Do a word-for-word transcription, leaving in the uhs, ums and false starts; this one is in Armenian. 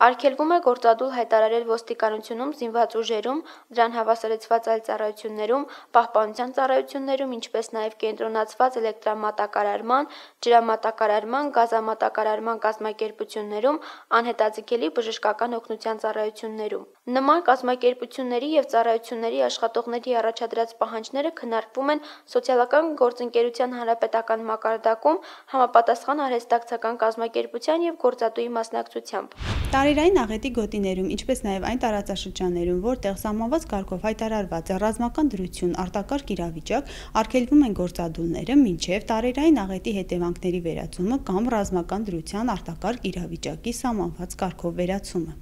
Արգելվում է գործադուլ հայտարարել ոստիկանությունում, զինված ուժերում, դրան հավասարեցված այլ ծառայություններում, պահպանության ծառայություններում, ինչպես նաև կենտրոնացված էլեկտրամատակարարման, ջրամատակարարման, գազամատակարարման կազմակերպություններում, անհետաձգելի բժշկական օգնության ծառայություններում։ Նման կազմակերպությունների և ծառայությունների աշխատողների առաջադրած պահանջները քննարկվում են Սոցիալական գործընկերության հանրապետական մակարդակում համապատասխան արհեստակցական կազմակերպության և գործատուի մասնակցությամբ։ Տարերային աղետի գոտիներում, ինչպես նաև այն տարածաշրջաններում, որտեղ սահմանված կարգով հայտարարված է ռազմական դրություն, արտակարգ իրավիճակ, արգելվում են գործադուլները, մինչև տարերային աղետի հետևանքների վերացումը կամ ռազմական դրության արտակարգ իրավիճակի սահմանված կարգով վերացումը։